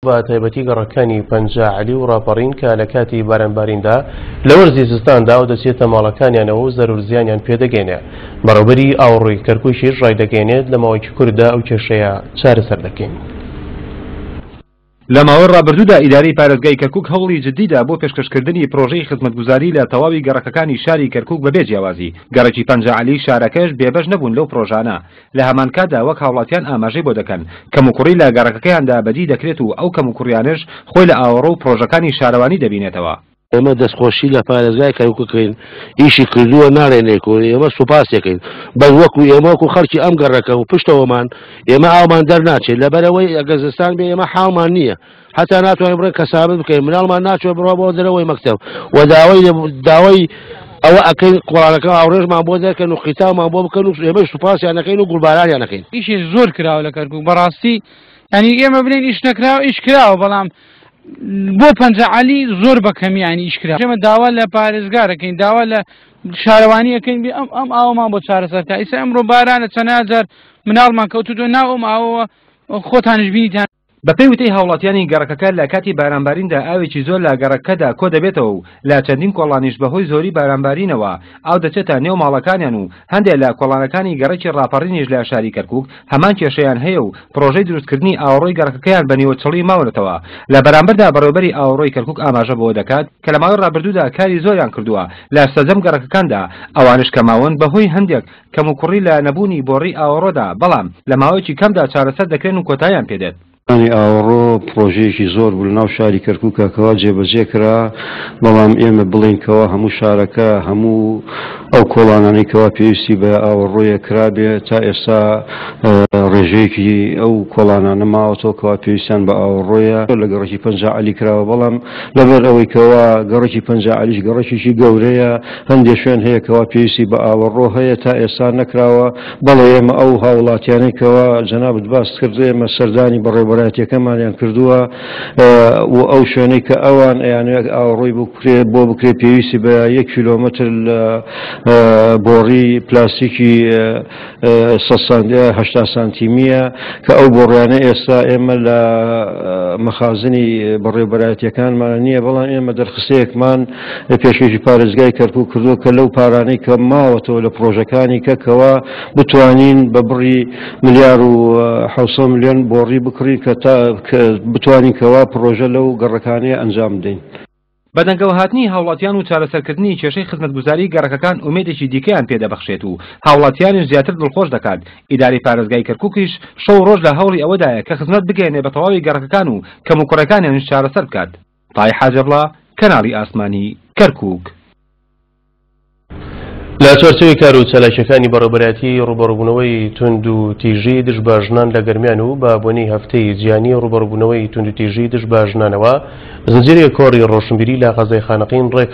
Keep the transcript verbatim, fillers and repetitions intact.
بە تایبەتی گەڕەکانی پەنجا عەلی و ڕاپەڕین کە لە کاتی بارانباریندا لە وەرزی زستاندا ئاو دەچێتە ماڵەکانیانەوە و زەرەر زیانیان پێدەگەینێ. بەڕێوەبەری ئاوەڕۆی کەرکووکیش ڕایدەگەیەنێت لە ماوەیەکی کوورتدا ئەو کێشەیە چارەسەر دەکەین. لە ماوەی ڕابردوودا ئیدارەی پارێزگای کەرکووک هەوڵی جددیدا بۆ پێشکەشکردنی پرۆژەی خزمەتگوزاری لە تەواوی گەڕەکەکانی شاری کەرکووک بەبێ جیاوازی. گەڕەکی پەنجا عەلی شارەکەش بێبەش نەبوون لەو پرۆژانە. لە هەمانکاتدا وەک هاوڵاتیان ئاماژەی بۆ دەکەن کەموکوڕی لە گەڕەکەکەیاندا بەدی دەکرێت و ئەو کەموکوڕیانش خۆی لە ئاوەڕۆ و پرۆژەکانی شارەوانی دەبینێتەوە. ئێمە دەستخۆشی لە پارێزگای کەرکووکین ئیشی کردووە ناڕێنێکۆ، ئێمە سوپاسێکین بەس وەکو ئێمە وەکو خەڵکی ئەم گەڕەکە و پشتەوەمان ئێمە ئاومان دەرناچێت، لەبەرەوەی ئەگەر زستان بێ ئێمە حاڵمان نییە، حتا ناتوانین بڕێن کەسابەت بکەین، مناڵمان ناچێت بڕوا بۆ دەرەوەی مەکتەب و داوای داوای ئەوە ئەکەین قۆڵانەکە ئاوڕێژمان بۆ دەرکەن و قیتاومان بۆ بکەن و ئێمە سوپاسیان نەکەین و گوڵبارانیان نەکەین. ئیشی زۆر کراوە لە کەرکووک بەڕاستی، یعنی ئێمە بڵێن ئیش نەکراوە ئیش کراوە، بەڵام بۆ پەنجا عەلی زۆر بە کەمیانی ئیش کرا. ئێمە داوا لە پارێزگارەکەین، داوا لە شارەوانیەکەین بێ ئەم ئەم ئاوەمان بۆ چارەسەر بکە. ئیسا ئەمڕۆ بارانە چەندە جار مناڵمان کەوتووە ناو ئەم ئاوەوە، خۆتانش بینیتان. بەپێی وتەی هاوڵاتیانی گەڕەکەکە لە کاتی بارانباریندا ئاوێکی زۆر لە گەڕەکەدا کۆ دەبێتەوە و لە چەندین کۆڵانیش بەهۆی زۆری بارانبارینەوە ئاو دەچێتە نێو ماڵەکانیان و هەندێک لە کۆڵانەکانی گەڕەکی ڕاپەڕینیش لە شاری کەرکووک هەمان کێشەیان هەیە و پرۆژەی دروستکردنی ئاوەڕۆی گەڕەکەکەیان بە نیوەچڵی ماونەتەوە. لە بەرامبەردا بەڕێوەبەری ئاوەڕۆی کەرکووک ئاماژە بەوە دەکات کە لە ماوەی ڕابردوودا کاری زۆریان کردووە لە سەرجەم گەڕەکەکاندا، ئەوانش کە ماون بەهۆی هەندێک کەموکوڕی لە نەبوونی بۆڕی ئاوەڕۆدا، بەڵام لە ماوەیەکی کەمدا چارەسەر دەکرێن و کۆتاییان پێدێت. ئاوەڕۆ پرۆژەیەکی زۆر بوو لەناو شاری کەرکووکە کەوا جێبەجێ کرا، بەڵام ئێمە بڵێین کەوا هەموو شارەکە هەموو ئەو کۆڵانانەی کەوا پێویستی بە ئاوەڕۆیە کرابێ تا ئێستا ڕێژەیەکی ئەو کۆڵانانە ماوەتەوە کەوا پێویستیان بە ئاوەڕۆیە. لە گەڕەکی پەنجا عەلی کراوە، بەڵام لەبەر ئەوەی کەوا گەڕەکی پەنجا عەلیش گەڕەکێکی گەورەیە، هەندێک شوێن هەیە کەوا پێویستی بە ئاوەڕۆ هەیە تا ئێستا نەکراوە. بەڵێ ئێمە ئەو هاوڵاتیانەی کەوا جەنابت باس کرد ئێمە سەردانی بەڕێوەبەرایەتیەکەمانیان کردووە و ئەو شوێنەی کە ئەوان ئەیانەوێت ئاوەڕۆی بۆ بکرێت پێویستی بە یەک کیلۆمەتر لە بۆڕی پلاستیکی هەشتا سانتیمیە کە ئەو بۆڕیانە ئێستا ئێمە لە مەخازنی بەڕێوەبەرایەتیەکانمان نییە، بەڵام ئێمە دەرخستەیەکمان پێشکەشی پارێزگای کەرکووک کردووە کە لەو پارانەی کە ماوەتەوە لە پرۆژەکانی کەکەوە بتوانین بە بڕی ملیار و حەوت ملیۆن بۆڕی بکڕین کە تا بتوانین کەوا پرۆژە لەو گەڕەکانەیە ئەنجام بدەین. بەدەنگەوەهاتنی هاوڵاتیان و چارەسەرکردنی کێشەی خزمەتگوزاری گەڕەکەکان ئومێدێکی دیکەیان پێدەبەخشێت و هاوڵاتیانیش زیاتر دڵخۆش دەکات. ئیدارەی پارێزگای کەرکووکیش شەو ڕۆژ لە هەوڵی ئەوەدایە کە خزمەت بگەیەنێ بە تەواوی گەڕەکەکان و کەموکوڕەکانیانیش چارەسەر بکات. تای حاجەبڵا، کەناڵی ئاسمانی کەرکووک. لە چوارچێوەی کار و چالاکیەکانی بەڕێوەبەرایەتی ڕووبەڕووبوونەوەی توند و تیژی دژ بە ژنان لە گەرمیان و بە بۆنەی هەفتەی جیهانی ڕووبەڕووبوونەوەی توند و تیژی دژ بە ژنانەوە زنجیرەیەک کۆڕی ڕۆشنبیری لە قەزای خانەقین ڕێک